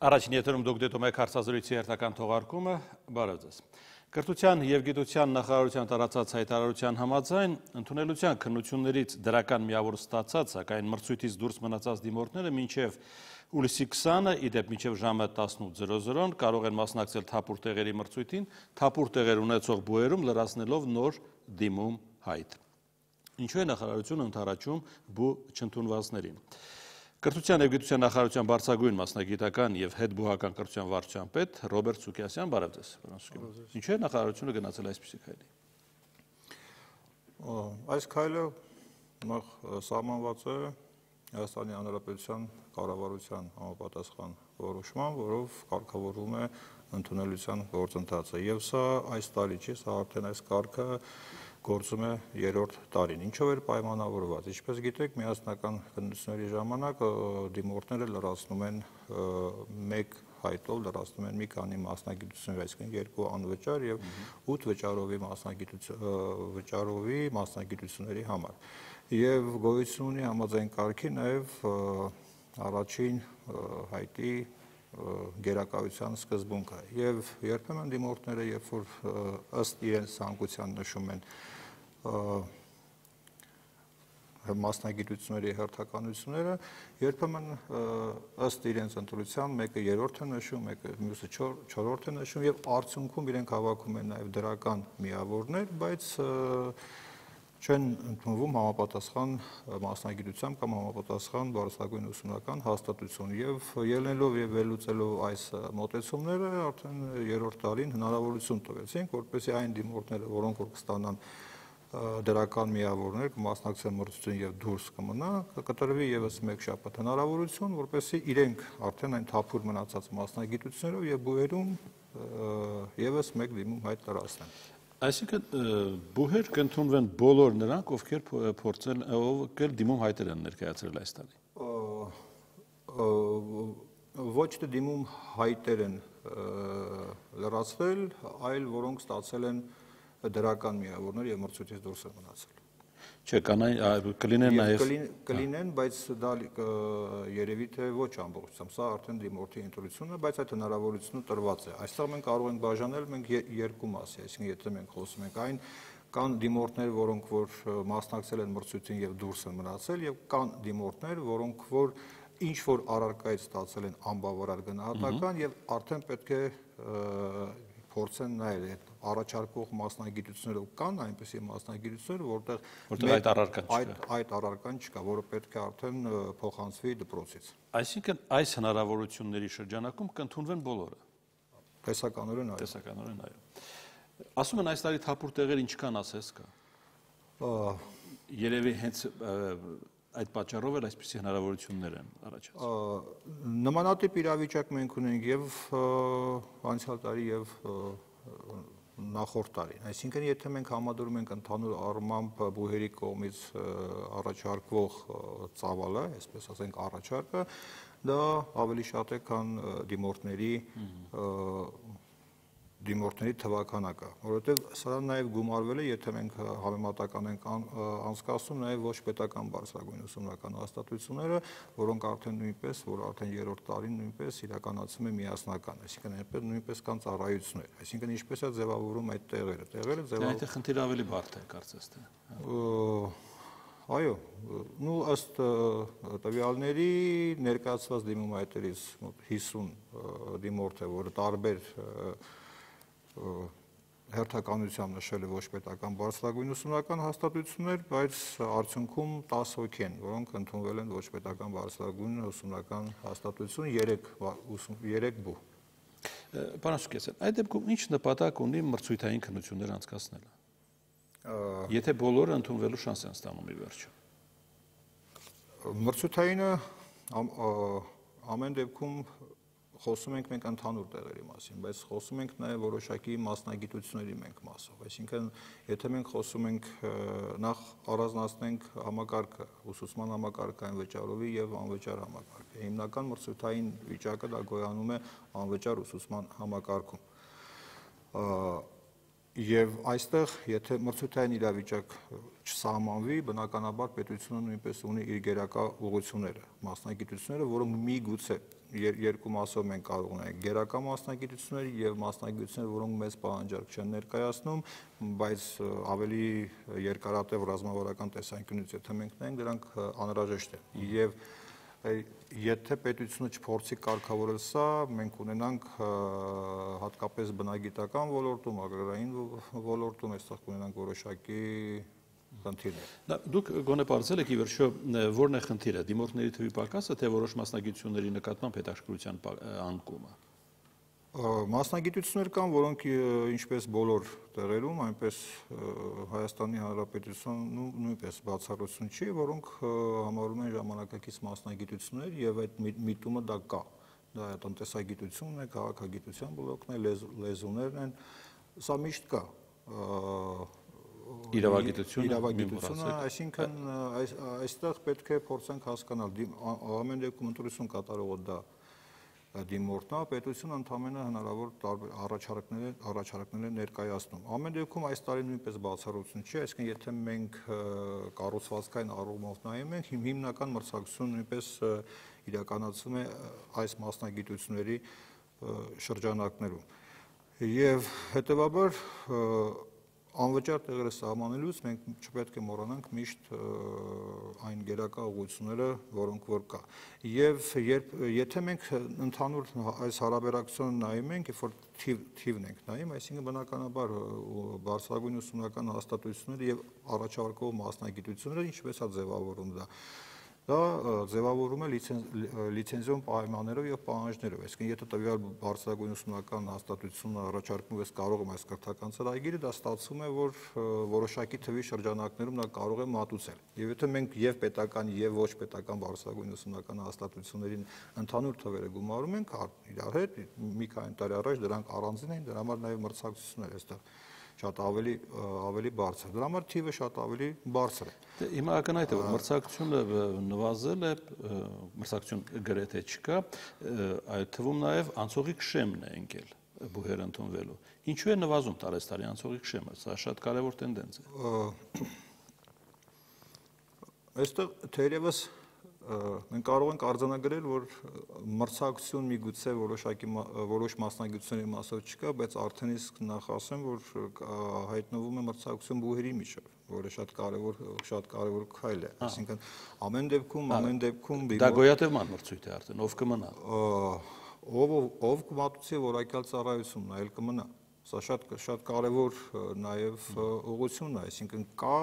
Առաջին եթերում դուք դիտում եք հարցազրույցի հերթական թողարկումը, բարև ձեզ։ Կրթության և գիտության նախարարության տարածած հայտարարության համաձայն ընդունելության քննություններից դրական միավոր ստացած, սակայն մրցույթից դուրս մնացած դիմորդները մինչև հուլիսի 20-ը, ի դեպ մինչև ժամը 18:00 կարող են մասնակցել թափուր տեղերի մրցույթին, թափուր տեղեր ունեցող բուհերում լրացնելով նոր դիմում հայտ։ Ինչու է նախարարությունը ընդառաջում բու չընդունվածներին։ Կրթության և գիտության նախարարության բարձրագույն մասնագիտական և հետբուհական կրթության վարչության պետ Ռոբերտ Սուկիասյան, բարև ձեզ։ Ինչու է նախարարությունը գնացել այսպիսի քայլի։ Այս քայլը նախ սահմանված է Հայաստանի Հանրապետության կառավարության համապատասխան որոշմամբ, որով կարգավորվում է ընդունելության գործընթացը։ Եվ սա այս տարի չի, սա արդեն այս կարգը գործում է 3-րդ տարին։ Ինչով էր պայմանավորված։ Ինչպես գիտեք, միասնական քննությունների ժամանակ դիմորդները լրացնում են մեկ հայտով լրացնում են մի քանի մասնագիտություններ, այսինքն 2 անվճար եւ 8 վճարովի մասնագիտությունների համար։ Եվ գոյություն ունի համաձայն կարգի նաեւ առաջին հայտի գերակայության սկզբունքը եւ երբեմն դիմորդները երբ որ ըստ իրենց ցանկության նշում են մասնագիտությունների հերթականությունները, երբեմն ըստ իրենց ընտրության մեկը 3-րդ է նշում, մյուսը 4-րդ է նշում եւ արդյունքում իրենք հավաքում են նաեւ դրական միավորներ, բայց չեն ընդունվում համապատասխան մասնագիտությամբ կամ համապատասխան բարձրագույն ուսումնական հաստատություն եւ ելնելով եւ վերլուծելով այս մոտեցումները արդեն 3-րդ տարին հնարավորություն տվեցինք, որպեսզի այն դիմորդները, որոնք որ կստանան դրական միավորներ կմասնակցեն մրցույթին եւ դուրս կմնա, կտրվի եւս մեկ շաբաթ հնարավորություն, որպեսզի իրենք արդեն այն թափուր մնացած մասնագիտություններով եւ բուհերում եւս մեկ դիմում հայտ լրացնեն։ Այսինքն բուհեր կընդունվեն բոլոր նրանք, ովքեր դիմում հայտեր են ներկայացրել այս տարի։ Ոչ թե դիմում հայտեր են լրացվել, այլ որոնք ստացել են դրական միավորներ եւ մրցույթից դուրս են մնացել։ Չէ, կլինեն նաեւ կլինեն, բայց դա երևի թե ոչ ամբողջությամբ, սա արդեն դիմորդի ընտրությունն է, բայց այդ հնարավորությունը տրված է։ Այստեղ մենք կարող ենք բաժանել երկու մասի, այսինքն եթե մենք խոսում ենք այն կան դիմորդներ, որոնք որ մասնակցել են մրցույթին եւ դուրս են մնացել եւ կան դիմորդներ, որոնք որ ինչ որ առարկայից ստացել են անբավարար գնահատական եւ արդեն պետք է փորձեն նայել այդ առաջարկող մասնագիտություններով կան այնպիսի մասնագիտություններ, որտեղ այդ առարկան չկա, որը պետք է արդեն փոխանցվի դպրոցից։ Այսինքն այս հնարավորությունների շրջանակում կընդունվեն բոլորը։ Տեսականորեն այո։ Տեսականորեն այո։ Ասում են այս տարի թափուր տեղեր ինչքան ասես կա։ Երևի հենց այդ պատճառով էլ այսպիսի հնարավորություններ են առաջացել։ Նմանատիպ իրավիճակ մենք ունենք եւ անցյալ տարի եւ նախորդ տարին։ Այսինքն եթե մենք համադրում ենք ընդհանուր առմամբ բուհերի կողմից առաջարկվող ծավալը, այսպես ասենք առաջարկը, դա ավելի շատ է, քան դիմորդների թվականակը, որովհետև սա նաև գումարվել է, եթե մենք համեմատական ենք անցկացնում նաև ոչ պետական բարձրագույն ուսումնական հաստատությունները, որոնք արդեն նույնպես, որ արդեն 3-րդ տարին նույնպես իրականացում է միասնական, այսինքն այնպես նույնպես կան ծառայություններ, այսինքն ինչպես է ձևավորում այդ տեղերը Այդ խնդիրը ավելի բարդ է, կարծես թե։ Այո, ըստ տվյալների ներկայացված դիմում հայտերից 50 դիմորդ է, որը տարբեր հերթականությամբ նշել է ոչ պետական բարձրագույն ուսումնական հաստատություններ, բայց արդյունքում 10 հոգի են, որոնք ընդունվել են ոչ պետական բարձրագույն ուսումնական հաստատություն 3 բու։ Պարոն Սուկիասյան, այդ դեպքում ինչ նպատակ ունի մրցույթային քննություններ անցկացնելը։ Եթե բոլորը ընդունվելու շանս են ստանում ի վերջո։ Մրցութայինը ամեն դեպքում խոսում ենք մենք ընդհանուր տեղերի մասին, բայց խոսում ենք նաև որոշակի մասնագիտությունների մենք մասով, այսինքն եթե մենք խոսում ենք նախ առանձնացնենք համակարգը, ուսուցման համակարգը անվճարովի եւ անվճար համակարգը։ Հիմնական մրցութային վիճակը դա գոյանում է անվճար ուսուցման համակարգում։ Եվ այստեղ, եթե մրցութային իրավիճակ չսահմանվի, բնականաբար պետությունը նույնպես ունի իր գերակա ուղղությունները, մասնագիտությունները, որոնք միգուցե երկու մասով մենք կարող ունենք գերակա մասնագիտություններ եւ մասնագիտություններ, որոնք մեծ պահանջարկ չեն ներկայացնում, բայց ավելի երկարատև ռազմավարական տեսանկյունից եթե մենք նայենք, դրանք անհրաժեշտ են։ Եվ եթե պետությունը չփորձի կարգավորել սա, մենք ունենանք հատկապես բնագիտական ոլորտում, agrarային ոլորտում, այստեղ կունենանք որոշակի խնդիրներ։ Դուք գոնե պարզել եք ի վերջո որն է խնդիրը, դիմորդների թվի պակասը, թե որոշ մասնագիտությունների նկատմամբ հետաքրքրության անկումը։ Մասնագիտություններ կան, որոնք ինչպես բոլոր տեղերում, այնպես Հայաստանի Հանրապետությունում նույնպես բացառություն չի, որոնք համարվում են ժամանակակից մասնագիտություններ եւ այդ միտումը դա կա։ Դա է տնտեսագիտությունն է, քաղաքագիտության բլոկն է, լեզուներն են, սա միշտ կա։ Իրավագիտությունը, այսինքն այստեղ պետք է փորձենք հասկանալ, ամեն դեպքում ընտրություն կատարողը դա դիմորդն է, պետությունը ընդամենը հնարավոր տարբեր առաջարկներ է ներկայացնում։ Ամեն դեպքում այս տարի նույնպես բացառություն չի, այսինքն եթե մենք կառուցվածքային առումով նայում ենք, հիմնական մրցակցությունը նույնպես իրականացվում է այս մասնագիտությունների շրջանակներում։ Եվ հետևաբար անվճար տեղերը սահմանելուց մենք չպետք է մոռանանք միշտ այն գերակա ուղղությունները, որոնք որ կա։ Եվ եթե մենք ընդհանուր այս հարաբերակցությունը նայում ենք, երբ որ թիվն ենք նայում, այսինքն բնականաբար բարձրագույն ուսումնական հաստատությունները եւ առաջարկող մասնագիտությունները ինչպես է ձևավորում դա ձևավորում է լիցենզիոն պայմաններով եւ պահանջներով, այսինքն եթե տվյալ բարձրագույն ուսումնական հաստատությունը առաջարկում ես կարող եմ այս կրթական ծրագիրը, դա ստացվում է, որ որոշակի թվի շրջանակներում դա կարող է մատուցել։ Եվ եթե մենք եւ պետական եւ ոչ պետական բարձրագույն ուսումնական հաստատություններին ընդհանուր թվերը գումարում ենք իրար հետ, մի քանի տարի առաջ դրանք առանձին էին, դրա համար նաեւ մրցակցություններ այստեղ շատ ավելի բարձր։ Դրա համար թիվը շատ ավելի բարձր է։ Հիմա ակնհայտ է, որ մրցակցությունը նվազել է, մրցակցություն գրեթե չկա, այդ թվում նաև անցողիկ շեմն է ընկել բուհեր ընդունվելու։ Ինչու է նվազում տարեստարի անցողիկ շեմը, սա շատ կարևոր տենդենց է։ Այստեղ թերևս մենք կարող ենք արձանագրել, որ մրցակցություն միգուցե որոշ մասնագիտությունների մասով չկա, բայց արդեն իսկ նախ ասեմ, որ հայտնվում է մրցակցություն բուհերի միջև, որը շատ կարևոր քայլ է։ Այսինքն ամեն դեպքում դա գոյատևման մրցույթ է արդեն, ով կմնա։ Ով կմատուցի որակյալ ծառայությունն, այլ կմնա։ Սա շատ կարևոր նաև ուղղությունն է, այսինքն կա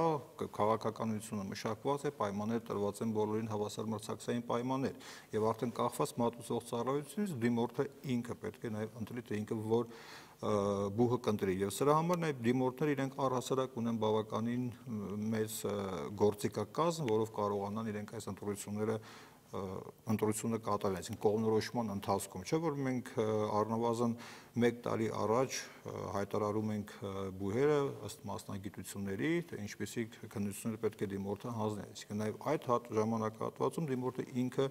քաղաքականությունը մշակված է, պայմաններ տրված են բոլորին հավասար մրցակցային պայմաններ, եւ արդեն կախված մատուցող ծառայությունից դիմորդը ինքը պետք է նաև ընտրի, թե ինքը որ բուհը կընտրի, եւ սրա համար նաև դիմորդները իրենք առհասարակ ունեն բավականին մեծ գործիքակազմ, որով կարողանան իրենք այս ընտրությունը կատարել, այսինքն կողմնորոշման ընթացքում, չէ՞ որ մենք առնվազն 1 տարի առաջ հայտարարում ենք բուհերը ըստ մասնագիտությունների, թե ինչպեսի քննություններ պետք է դիմորդը հանձնի, այսինքն նաև այդ ժամանակահատվածում դիմորդը ինքը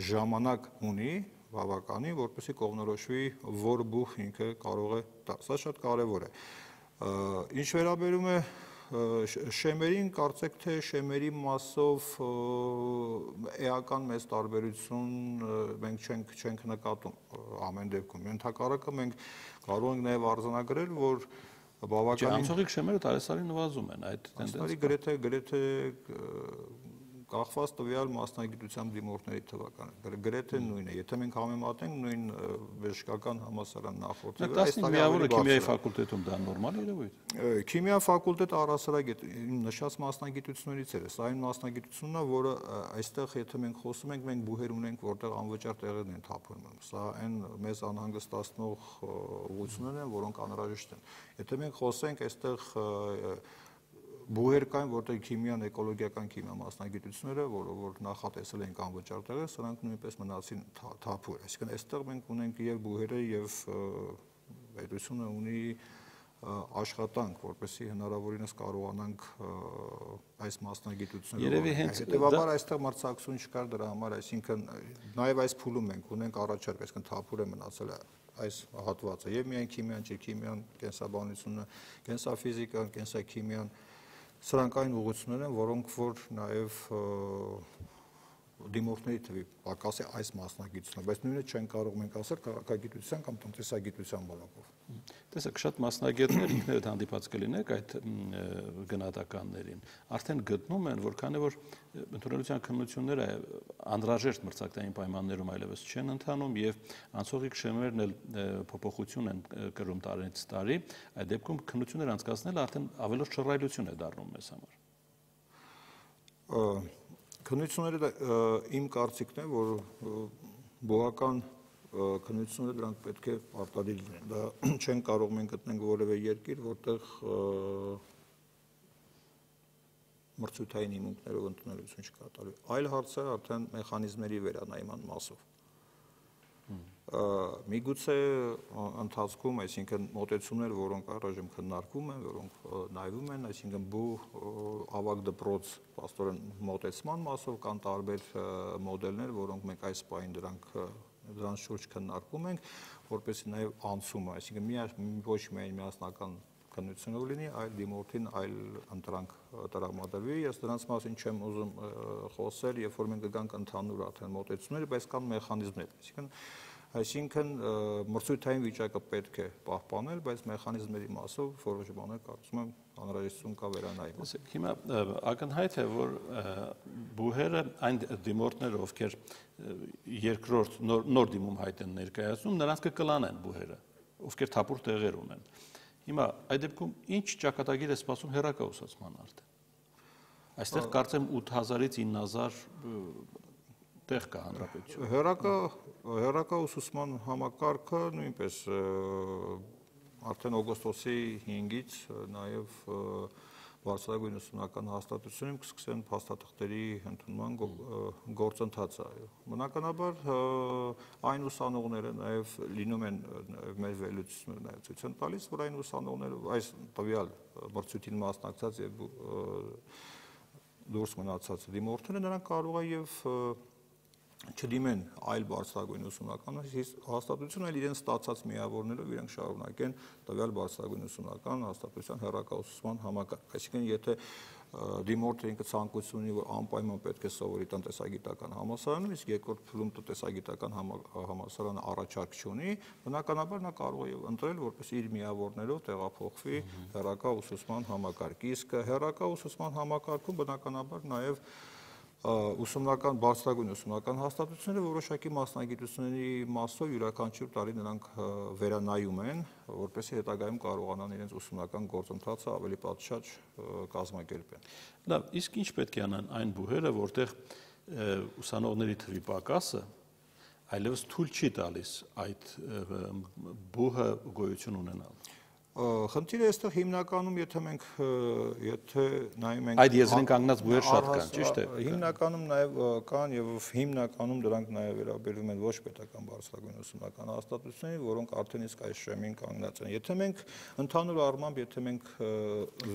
ժամանակ ունի բավականին, որպեսզի կողմնորոշվի, որ բուհ ինքը կարող է տալ, սա շատ կարևոր է։ Ինչ վերաբերում է շեմերին, կարծեք թե շեմերի մասով էական մեծ տարբերություն մենք չենք նկատում ամեն դեպքում։ Ընդհակառակը մենք կարող ենք նաև արձանագրել, որ բավականին անցողիկ շեմերը տարեսարի նվազում են այդ տենդենսը։ Գրեթե կախված տվյալ մասնագիտությամբ դիմորդների թվականը, գրեթե նույնն է։ Եթե մենք համեմատենք նույն բժշկական համալսարան նախորդի վրա, այս միավորը քիմիայի ֆակուլտետում դա նորմալ երևույթ է։ Քիմիա ֆակուլտետը առհասարակ նշած մասնագիտություններից է, սա այն մասնագիտությունն է, որը այստեղ եթե մենք խոսում ենք, մենք բուհեր ունենք, որտեղ անվճար տեղերն են թափվում։ Սա այն մեծ անհանգստացնող ուղղություններն են, որոնք անհրաժեշտ են։ Եթե մենք խոսենք այստեղ բուհեր կային, որտեղ քիմիան, էկոլոգիական քիմիա մասնագիտությունները, որ նախատեսել ենք անվճար տեղեր, սրանք նույնպես մնացին թափուր։ Այսինքն այստեղ մենք ունենք եւ բուհերը եւ պետությունը ունի աշխատանք, որպեսզի հնարավորինս կարողանանք այս մասնագիտությունները։ Երևի հենց հետևաբար այստեղ մրցակցություն չկար դրա համար, այսինքն նաև այս փուլում մենք ունենք առաջարկ, այսինքն թափուր է մնացել այս հատվածը, եւ միայն քիմիան չէ, քիմիան, կենսաբանությունը, կենսաֆիզիկան, կենսաքիմիան, սրանք այն ուղղություններ են, որոնք որ նաև դիմորդների թվի պակաս է այս մասնագիտությունը, բայց նույնը չեն կարող մենք ասել քաղաքագիտության կամ տնտեսագիտության բնույթով։ Տեսեք, շատ մասնագետներ ինքներդ հանդիպած կլինեք այդ գնահատականներին, արդեն գտնում են, որ քանի որ ընդունելության քննությունները անհրաժեշտ մրցակցային պայմաններում այլևս չեն ընթանում եւ անցողիկ շեմերն էլ փոփոխություն են կրում տարեցից տարի, այդ դեպքում քննություններ անցկացնելը արդեն ավելորդ շռայլություն է դառնում մեզ համար։ Քննությունները իմ կարծիքն է, որ բողական քննությունները դրանք պետք է արտադիր լինեն։ Դա չեն կարող մենք գտնենք որևէ երկիր, որտեղ մրցութային հիմունքներով ընդունելություն չկատարվի։ Այլ հարց է արդեն մեխանիզմների վերանայման մասով։ Միգուցե ընթացքում, այսինքն մոտեցումներ, որոնք առայժմ քննարկվում են, որոնք նայվում են, այսինքն ավագ դպրոց փաստորեն մոտեցման մասով կան տարբեր մոդելներ, որոնք մենք այս պահին դրանց շուրջ քննարկում ենք, որպեսզի նաև անցումը, այսինքն ոչ միայն միասնական քննությունով լինի, այլ դիմորդին այլ ընտրանք տրամադրվի։ Ես դրանց մասին չեմ ուզում խոսել, երբ որ մենք կգանք ընդհանուր արդեն մոտեցումներ, բայց կան մեխանիզմներ, այսինքն մրցույթային վիճակը պետք է պահպանել, բայց մեխանիզմների մասով որոշ բաներ կարծում եմ անհրաժեշտություն կա վերանայելու։ Հիմա ակնհայտ է, որ բուհերը այն դիմորդները, ովքեր երկրորդ նոր դիմում հայտ են ներկայացնում, նրանց կկլանեն բուհերը, ովքեր թափուր տեղեր ունեն։ Հիմա այդ դեպքում ինչ ճակատագիր է սպասում հեռակա ուսուցման արդեն։ Այստեղ կարծեմ 8000-ից 9000 տեղ կա հանրապետություն։ Հեռակա ուսուցման համակարգը նույնպես արդեն օգոստոսի 5-ից նաև բարձրագույն ուսումնական հաստատությունում կսկսեն փաստաթղթերի ընդունման գործընթացը։ Բնականաբար այն ուսանողները նաև լինում են մեր վերլուծությունները նաև ցույց են տալիս, որ այն ուսանողները այս տվյալ մրցույթին մասնակցած եւ դուրս մնացած դիմորդները նրանք կարող են եւ չդիմեն այլ բարձրագույն ուսումնական հաստատություն, այլ իրենց ստացած միավորներով իրենք շարունակեն տվյալ բարձրագույն ուսումնական հաստատության հեռակա ուսուցման համակարգ։ Այսինքն, եթե դիմորդը ինքը ցանկություն ունի, որ անպայման պետք է սովորի տնտեսագիտական համալսարանում, իսկ երկրորդ փուլում տնտեսագիտական համալսարանը առաջարկ չունի, բնականաբար նա կարող է ընտրել, որպես իր միավորներով տեղափոխվի հեռակա ուսուցման համակարգ։ Իսկ հեռակա ուսուցման համակարգում բնականաբար նաև ուսումնական բարձրագույն ուսումնական հաստատությունները որոշակի մասնագիտությունների մասով յուրաքանչյուր տարի նրանք վերանայում են, որպեսզի հետագայում կարողանան իրենց ուսումնական գործընթացը ավելի պատշաճ կազմակերպեն։ Լավ, իսկ ինչ պետք է անեն այն բուհերը, որտեղ ուսանողների թվի պակասը այլևս թույլ չի տալիս այդ բուհը գոյություն ունենալ։ Խնդիրը այստեղ հիմնականում, եթե նայում ենք այդ եզրին կանգնած բուհեր շատ կան, ճիշտ է։ Հիմնականում նաև կան եւ հիմնականում դրանք նաև վերաբերում են ոչ պետական բարձրագույն ուսումնական հաստատությունների, որոնք արդեն իսկ այս շեմին կանգնած են։ Եթե մենք ընդհանուր առմամբ, եթե մենք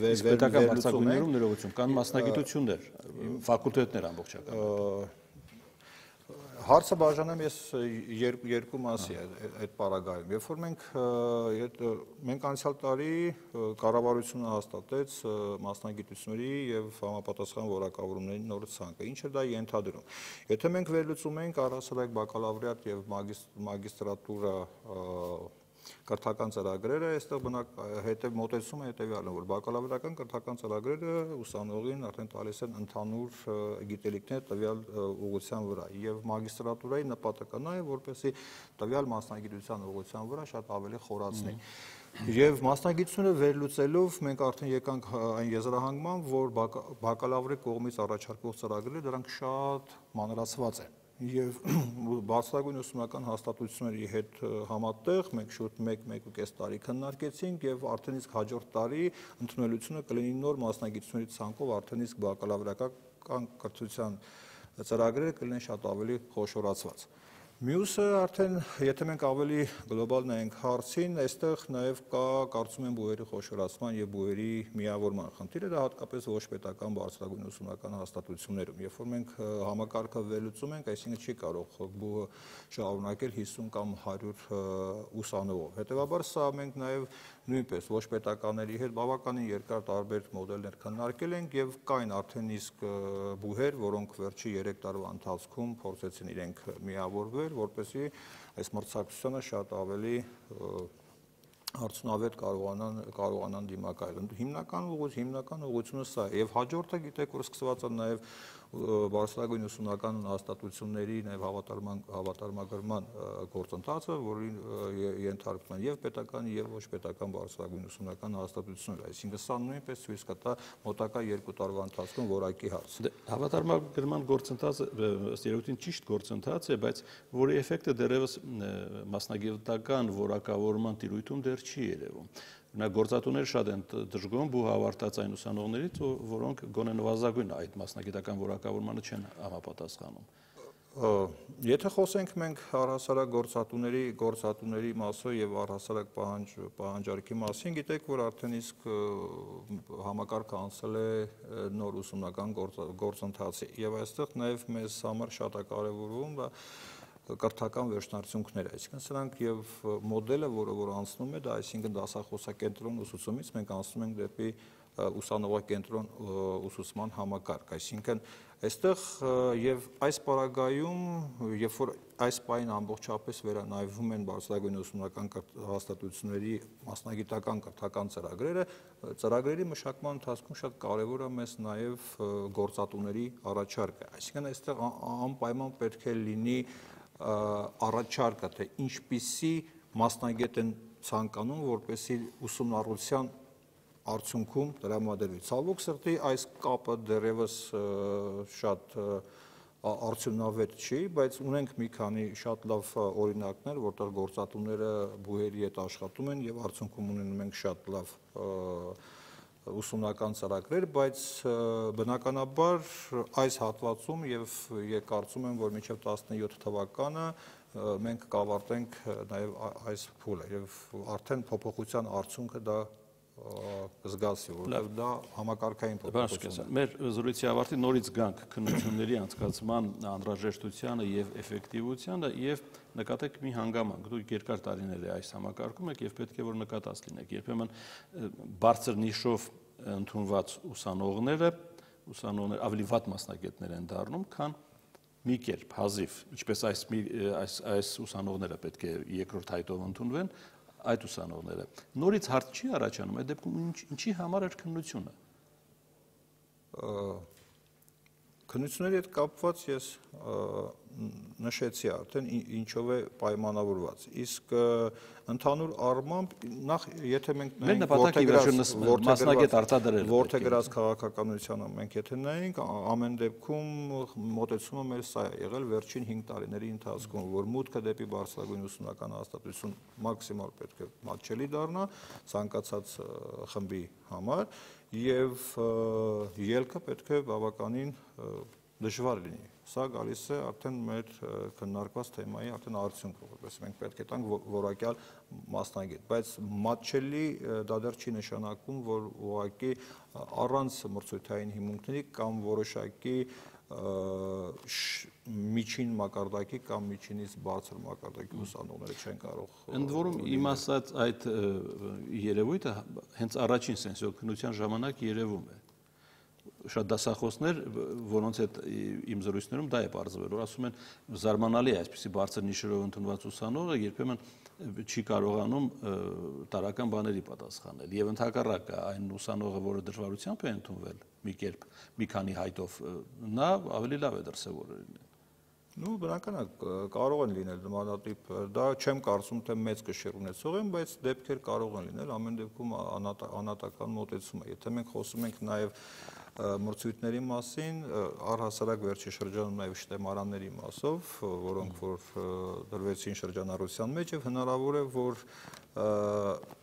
պետական բարձրագույններում ներողություն, կան մասնագիտություններ, ֆակուլտետներ ամբողջական։ Հարցը բաժանեմ ես երկու մասի այդ պարագայում։ Երբ որ մենք անցյալ տարի կառավարությունը հաստատեց մասնագիտությունների եւ համապատասխան որակավորումների նոր ցանկը, ինչը դա ենթադրում։ Եթե մենք վերլուծում ենք առհասարակ բակալավրիատ եւ մագիստրատուրա կրթական ծրագրերը, այստեղ մոտեցումը հետեւյալն է, որ բակալավրիական կրթական ծրագրերը ուսանողին արդեն տալիս են ընդհանուր գիտելիքներ տվյալ ուղղության վրա եւ մագիստրատուրայի նպատակը նա է, որպեսզի տվյալ մասնագիտության ուղղության վրա շատ ավելի խորացնի։ Եվ մասնագիտությունը վերլուծելով մենք արդեն եկանք այն եզրահանգման, որ բակալավրի կողմից առաջարկվող ծրագրերը դրանք շատ մանրացված են։ Եվ բարձրագույն ուսումնական հաստատությունների հետ համատեղ մենք շուրջ 1-1.5 տարի քննարկեցինք եւ արդեն իսկ հաջորդ տարի ընդունելությունը կլինի նոր մասնագիտությունների ցանկով արդեն իսկ բակալավրիական կրթության ծրագրերը կլինեն շատ ավելի խոշորացված։ Մյուսը արդեն, եթե մենք ավելի գլոբալ նայենք հարցին, այստեղ նաև կա, կարծում եմ, բուհերի խոշորացման եւ բուհերի միավորման խնդիրը, դա հատկապես ոչ պետական բարձրագույն ուսումնական հաստատություններում, երբ որ մենք համակարգը վերլուծում ենք, այսինքն չի կարող բուհը շարունակել 50 կամ 100 ուսանողով։ Հետևաբար սա մենք նաև նույնպես ոչ պետականների հետ բավականին երկար տարբեր մոդելներ քննարկել ենք եւ կային արդեն իսկ բուհեր, որոնք վերջի 3 տարվա ընթացքում փորձեցին իրենք միավորվել, որպեսզի այս մրցակցությունը շատ ավելի արդյունավետ կարողանան դիմակայել։ Հիմնական ուղղությունը սա է եւ հաջորդը գիտեք որ սկսված է նաեւ բարձրագույն ուսումնական հաստատությունների նաեւ հավատարմագրման գործընթացը, որին ենթարկվում են եւ պետական եւ ոչ պետական բարձրագույն ուսումնական հաստատություններ, այսինքն սա նույնպես ցույց կտա մոտակա 2 տարվա ընթացքում որակի հարց։ Հավատարմագրման գործընթացը ըստ երևույթին ճիշտ գործընթաց է, բայց որի էֆեկտը դեռևս մասնագիտական որակավորման տիրույթում դեռ չի երևում։ Օրինակ գործատուները շատ են դժգոհում բուհ ավարտած այն ուսանողներից, որոնք գոնե նվազագույն այդ մասնագիտական որակավորմանը չեն համապատասխանում։ Եթե խոսենք մենք առհասարակ գործատուների մասով եւ առհասարակ պահանջարկի մասին, գիտեք, որ արդեն իսկ համակարգը անցել է նոր ուսումնական գործընթացի եւ այստեղ նաեւ մեզ համար շատ է կարեւորում կրթական վերջնարդյունքները, այսինքն սրանք եւ մոդելը, որ անցնում է, դա այսինքն դասախոսակենտրոն ուսուցումից մենք անցնում ենք դեպի ուսանողակենտրոն ուսուցման համակարգ, այսինքն այստեղ եւ այս պարագայում, երբ որ այս պայն ամբողջապես վերանայվում են բարձրագույն ուսումնական հաստատությունների մասնագիտական կրթական ծրագրերի մշակման ընթացքում շատ կարեւոր է մեզ նաեւ գործատուների առաջարկը, այսինքն այստեղ անպայման պետք է լինի առաջարկը, թե ինչպիսի մասնագետ են ցանկանում, որպեսզի ուսումնառության արդյունքում տրամադրվի։ Ցավոք սրտի այս կապը դեռևս շատ արդյունավետ չի, բայց ունենք մի քանի շատ լավ օրինակներ, որտեղ գործատուները բուհերի հետ աշխատում են եւ արդյունքում ունենում ենք շատ լավ ուսումնական ծրագրեր, բայց բնականաբար այս հատվածում եւ կարծում եմ, որ մինչեւ 17 թվականը մենք կավարտենք նաեւ այս փուլը եւ արդեն փոփոխության արդյունքը դա կզգացի, որովհետեւ դա համակարգային փոփոխություն է։ Մեր զրույցի ավարտին նորից գանք քննությունների անցկացման անհրաժեշտությանը եւ էֆեկտիվությանը եւ նկատեք մի հանգամանք, դուք երկար տարիներ է այս համակարգում եք եւ պետք է որ նկատած լինեք։ Երբեմն բարձր նիշով ընդունված ուսանողները ավելի վատ մասնագետներ են դառնում, քան մի կերպ հազիվ, ինչպես այս ուսանողները պետք է երկրորդ հայտով ընդունվեն, այդ ուսանողները։ Նորից հարց չի առաջանում, այդ դեպքում ինչի համար էր քննությունը։ Քննությունների հետ կապված ես նշեցի արդեն ինչով է պայմանավորված։ Իսկ ընդհանուր առմամբ նախ եթե մենք նայենք որթեգրած քաղաքականությանը մենք եթե նայենք ամեն դեպքում մոտեցումը մեր սա է եղել վերջին 5 տարիների ընթացքում, որ մուտքը դեպի բարձրագույն ուսումնական հաստատություն մաքսիմալ պետք է մատչելի դառնա ցանկացած խմբի համար եւ ելքը պետք է բավականին դժվար լինի։ Սա գալիս է արդեն մեր քննարկված թեմայի արդեն արդյունքը, որպես մենք պետք է տանք որակյալ մասնագետ, բայց մատչելի դա դեռ չի նշանակում, որ ուղղակի առանց մրցույթային հիմունքների կամ որոշակի միջին մակարդակի կամ միջինից բարձր մակարդակի ուսանողները չեն կարող։ Ընդ որում իմ ասած այդ երևույթը հենց առաջին սենսիոքնության ժամանակ երևում է։ Շատ դասախոսներ, որոնց հետ իմ զրույցներում դա է պարզվել, որ ասում են զարմանալի է այսպիսի բարձր նիշերով ընդունված ուսանողը երբեմն չի կարողանում տարական բաների պատասխանել եւ ընդհակառակը այն ուսանողը, որը դժվարությամբ է ընդունվել մի կերպ մի քանի հայտով, նա ավելի լավ է դրսևորել։ Ну, բնական է, կարող են լինել նմանատիպ, դա չեմ կարծում, թե մեծ կշիռ ունեցող են, բայց դեպքեր կարող են լինել, ամեն դեպքում անհատական մոտեցում է։ Եթե մենք խոսում ենք նաեւ մրցույթների մասին, առհասարակ վերջի շրջանում նաեւ շտեմարանների մասով, որոնք որ դրվեցին շրջանառության մեջ եւ հնարավոր է, որ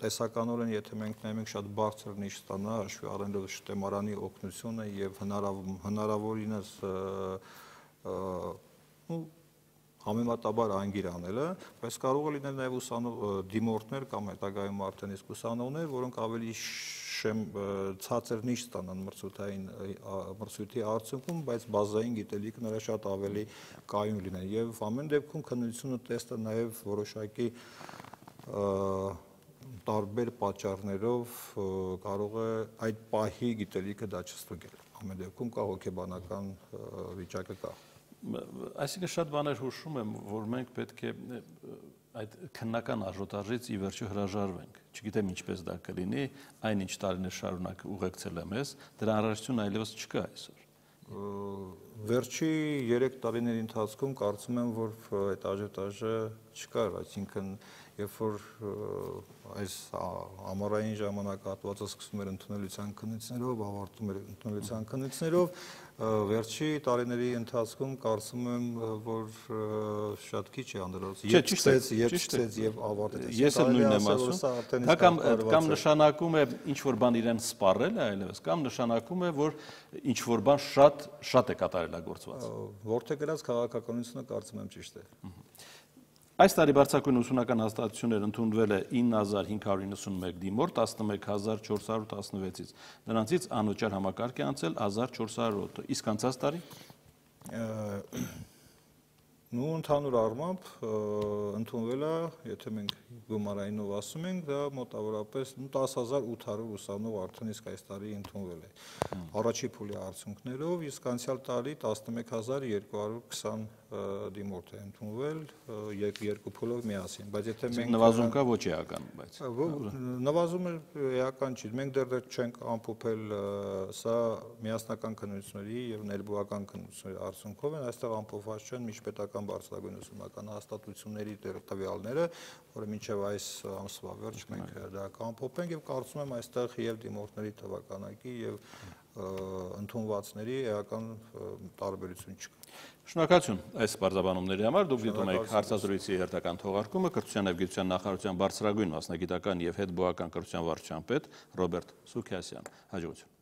տեսականորեն եթե մենք նայենք շատ բարձր նիշ ստանա, հաշվի առնելով շտեմարանի օգնությունը եւ հնարավորինս համեմատաբար անգիր անելը, բայց կարող է լինել նաև դիմորդներ կամ հետագայում արդեն իսկ ուսանողներ, որոնք ավելի ցածր նիշ ստանան մրցույթի արդյունքում, բայց բազային գիտելիքը նրա շատ ավելի կայուն լինեն եւ ամեն դեպքում քննությունը տեստը նաև որոշակի տարբեր պատճառներով կարող է այդ պահի գիտելիքը դա չստուգել։ Ամեն դեպքում կա հոգեբանական վիճակը կա։ Այսինքն շատ բաներ հուշում եմ, որ մենք պետք է այդ քննական աժոտաժից ի վերջո հրաժարվենք։ Չգիտեմ ինչպես դա կլինի, այնինչ տարիներ շարունակ ուղեկցել եմ ես, դրա անհրաժեշտություն այլևս չկա այսօր։ Վերջի 3 տարիների ընթացքում կարծում եմ, որ այդ աժոտաժը չկար, այսինքն երբ որ այս ամառային ժամանակահատվածը սկսում էր ընդունելության քննիցներով, ավարտում էր ընդունելության քննիցներով, վերջի տարիների ընթացքում կարծում եմ, որ շատ քիչ է անդրադարձ, եւ եւ ավարտեց։ Ես էլ նույնն եմ ասում, կամ նշանակում է ինչ-որ բան իրեն սպառել է այլևս, կամ նշանակում է, որ ինչ-որ բան շատ է կատարելագործված։ Որտեղ գրած քաղաքականությունը կարծում եմ ճիշտ է։ Այս տարի բարձրագույն ուսումնական հաստատություններ ընդունվել է 9591 դիմորդ 11416-ից, նրանցից անվճար համակարգ է անցել 1400-ը, իսկ անցած տարի ընդհանուր առմամբ ընդունվել է, եթե մենք գումարայինով ասում ենք, դա մոտավորապես 10800 ուսանող արդեն իսկ այս տարի ընդունվել է։ Առաջի փուլի արդյունքներով, իսկ անցյալ տարի 11220 դիմորդ է ընդունվել երկու փուլով միասին, բայց եթե մենք նվազում կա ոչ էական, բայց նվազումը էական չի, մենք դեռ չենք ամփոփել, սա միասնական քննությունների եւ ներբուական քննությունների արդյունքով են, այստեղ ամփոփված չեն միջպետական բարձրագույն ուսումնական հաստատությունների տվյալները, որը մինչև այս ամսվա վերջ մենք դա կամփոփենք եւ կարծում եմ այստեղ եւ դիմորդների թվականակի եւ ընդունվածների էական տարբերություն չկա։ Շնորհակալություն այս բարձրաբանումների համար, դուք դիտում եք հարցազրույցի հերթական թողարկումը Կրթության եւ գիտության նախարարության բարձրագույն մասնագիտական եւ հետբուական կրթության վարչության պետ Ռոբերտ Սուքիասյան։ Հաջողություն։